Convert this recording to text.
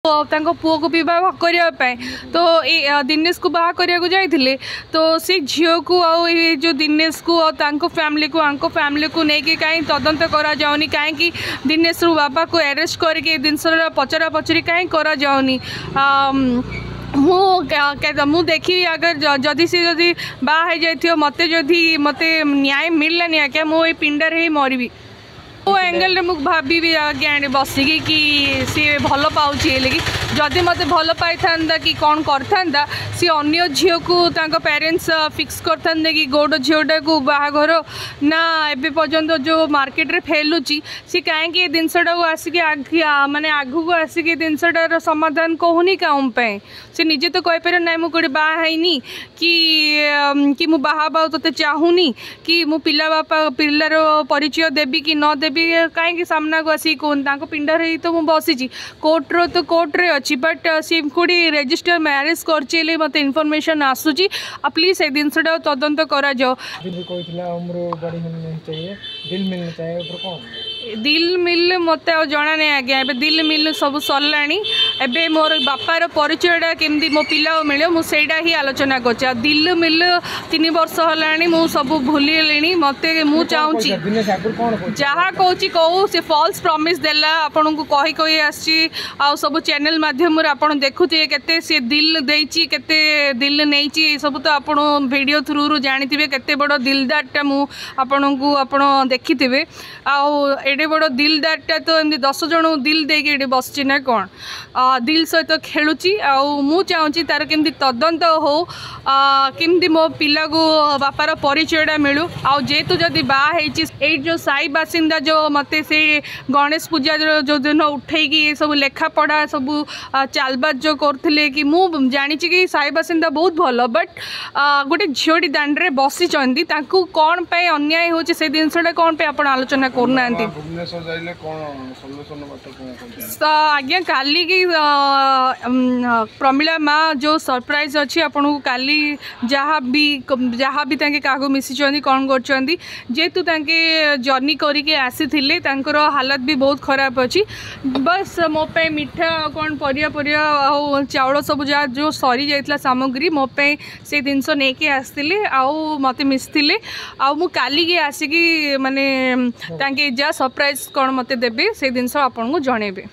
ତାଙ୍କ ପୁଅକୁ ବିବାହ କରିବା ପାଇଁ ତ ଏଇ ଦିନେଶକୁ ବାହା କରିବାକୁ ଯାଇଥିଲେ। ତ ସେ ଝିଅକୁ ଆଉ ଏଇ ଯେଉଁ ଦିନେଶକୁ ଆଉ ତାଙ୍କ ଫ୍ୟାମିଲିକୁ, ଆଙ୍କ ଫ୍ୟାମିଲିକୁ ନେଇକି କାହିଁ ତଦନ୍ତ କରାଯାଉନି? କାହିଁକି ଦିନେଶରୁ ବାପାକୁ ଆରେଷ୍ଟ କରିକି ଏ ଜିନିଷର ପଚରା ପଚରି କାହିଁ କରାଯାଉନି? ମୁଁ ଦେଖିବି, ଆଗର ଯଦି ସେ ଯଦି ବାହା ହେଇଯାଇଥିବ, ମୋତେ ଯଦି ମୋତେ ନ୍ୟାୟ ମିଳିଲାନି ଆଜ୍ଞା, ମୁଁ ଏଇ ପିଣ୍ଡାରେ ହିଁ ମରିବି। କେଉଁ ଆଙ୍ଗେଲରେ ମୁଁ ଭାବିବି ଆଜ୍ଞା ଏଠି ବସିକି କି ସିଏ ଭଲ ପାଉଛି ହେଲେ କି? ଯଦି ମୋତେ ଭଲ ପାଇଥାନ୍ତା କି କ'ଣ କରିଥାନ୍ତା, ସିଏ ଅନ୍ୟ ଝିଅକୁ ତାଙ୍କ ପ୍ୟାରେଣ୍ଟସ୍ ଫିକ୍ସ କରିଥାନ୍ତେ କି ଗୌଡ଼ ଝିଅଟାକୁ ବାହାଘର ନା? ଏବେ ପର୍ଯ୍ୟନ୍ତ ଯେଉଁ ମାର୍କେଟରେ ଫେଲୁଛି, ସିଏ କାହିଁକି ଏ ଜିନିଷଟାକୁ ଆସିକି ମାନେ ଆଗକୁ ଆସିକି ଏ ଜିନିଷଟାର ସମାଧାନ କହୁନି କାଉଁ ପାଇଁ? ସେ ନିଜେ ତ କହିପାରିବ, ନାଇଁ ମୁଁ କେଉଁଠି ବାହା ହେଇନି କି ମୁଁ ବାହା ହେବାକୁ ତୋତେ ଚାହୁଁନି କି ମୁଁ ପିଲା ବାପା ପିଲାର ପରିଚୟ ଦେବି କି ନ ଦେବି। କାହିଁକି ସାମ୍ନାକୁ ଆସିକି କହୁନି? ତାଙ୍କ ପିଣ୍ଡାରେ ହିଁ ତ ମୁଁ ବସିଛି। କୋର୍ଟର ତ କୋର୍ଟରେ ଅଛି, ବଟ୍ ସିଏ କେଉଁଠି ରେଜିଷ୍ଟର ମ୍ୟାରେଜ୍ କରିଛି ହେଲେ ମୋତେ ଇନଫର୍ମେସନ୍ ଆସୁଛି। ଆଉ ପ୍ଲିଜ୍ ସେ ଜିନିଷଟା ତଦନ୍ତ କରାଯାଉ। କହିଥିଲା उम्र बड़ी होनी नहीं चाहिए, दिल मिलना चाहिए, ଉପରେ କ'ଣ? ଦିଲ୍ ମିଲ୍ ମୋତେ ଆଉ ଜଣା ନାହିଁ ଆଜ୍ଞା। ଏବେ ଦିଲ୍ ମିଲ୍ ସବୁ ସରିଲାଣି। ଏବେ ମୋର ବାପାର ପରିଚୟଟା କେମିତି ମୋ ପିଲାକୁ ମିଳିବ, ମୁଁ ସେଇଟା ହିଁ ଆଲୋଚନା କରୁଛି। ଆଉ ଦିଲ୍ ମିଲ୍ 3 ବର୍ଷ ହେଲାଣି, ମୁଁ ସବୁ ଭୁଲିଗଲିଣି। ମୋତେ ମୁଁ ଚାହୁଁଛି ଯାହା କହୁଛି କହୁ, ସେ ଫଲ୍ସ ପ୍ରମିସ୍ ଦେଲା, ଆପଣଙ୍କୁ କହି କହି ଆସିଛି ଆଉ ସବୁ ଚ୍ୟାନେଲ୍ ମାଧ୍ୟମରେ ଆପଣ ଦେଖୁଥିବେ କେତେ ସିଏ ଦିଲ୍ ଦେଇଛି, କେତେ ଦିଲ୍ ନେଇଛି, ଏସବୁ ତ ଆପଣ ଭିଡ଼ିଓ ଥ୍ରୁରୁ ଜାଣିଥିବେ। କେତେ ବଡ଼ ଦିଲଦାରଟା ମୁଁ ଆପଣଙ୍କୁ ଆପଣ ଦେଖିଥିବେ। ଆଉ ଏଡ଼େ ବଡ଼ ଦିଲଦାରଟା ତ ଏମିତି 10 ଜଣଙ୍କୁ ଦିଲ୍ ଦେଇକି ଏଠି ବସିଛି ନା କ'ଣ? ଦିଲ୍ ସହିତ ଖେଳୁଛି। ଆଉ ମୁଁ ଚାହୁଁଛି ତାର କେମିତି ତଦନ୍ତ ହଉ, କେମିତି ମୋ ପିଲାକୁ ବାପାର ପରିଚୟଟା ମିଳୁ। ଆଉ ଯେହେତୁ ଯଦି ବାହା ହେଇଛି, ଏଇ ଯେଉଁ ସାହି ବାସିନ୍ଦା ଯେଉଁ ମୋତେ ସେଇ ଗଣେଶ ପୂଜା ଯେଉଁ ଦିନ ଉଠେଇକି ଏସବୁ ଲେଖାପଢ଼ା ସବୁ ଚାଲବାଜ ଯେଉଁ କରୁଥିଲେ, କି ମୁଁ ଜାଣିଛି କି ସାହି ବାସିନ୍ଦା ବହୁତ ଭଲ, ବଟ୍ ଗୋଟେ ଝିଅଟି ଦାଣ୍ଡରେ ବସିଛନ୍ତି, ତାଙ୍କୁ କ'ଣ ପାଇଁ ଅନ୍ୟାୟ ହେଉଛି, ସେ ଜିନିଷଟା କ'ଣ ପାଇଁ ଆପଣ ଆଲୋଚନା କରୁନାହାନ୍ତି? ଆଜ୍ଞା, କାଲିକି ପ୍ରମିଳା ମା ଯେଉଁ ସରପ୍ରାଇଜ୍ ଅଛି ଆପଣଙ୍କୁ କାଲି, ଯାହା ବି ତାଙ୍କେ କାହାକୁ ମିଶିଛନ୍ତି, କ'ଣ କରୁଛନ୍ତି। ଯେହେତୁ ତାଙ୍କେ ଜର୍ଣ୍ଣି କରିକି ଆସିଥିଲେ, ତାଙ୍କର ହାଲତ ବି ବହୁତ ଖରାପ ଅଛି। ବାସ୍ ମୋ ପାଇଁ ମିଠା ଆଉ କ'ଣ ପରିବା ପରିବା ଆଉ ଚାଉଳ ସବୁ ଯାହା ଯେଉଁ ସରିଯାଇଥିଲା ସାମଗ୍ରୀ, ମୋ ପାଇଁ ସେ ଜିନିଷ ନେଇକି ଆସିଥିଲେ ଆଉ ମୋତେ ମିଶିଥିଲେ। ଆଉ ମୁଁ କାଲିକି ଆସିକି ମାନେ ତାଙ୍କେ ଯାହା ସରପ୍ରାଇଜ୍ କ'ଣ ମୋତେ ଦେବେ, ସେ ଜିନିଷ ଆପଣଙ୍କୁ ଜଣେଇବେ।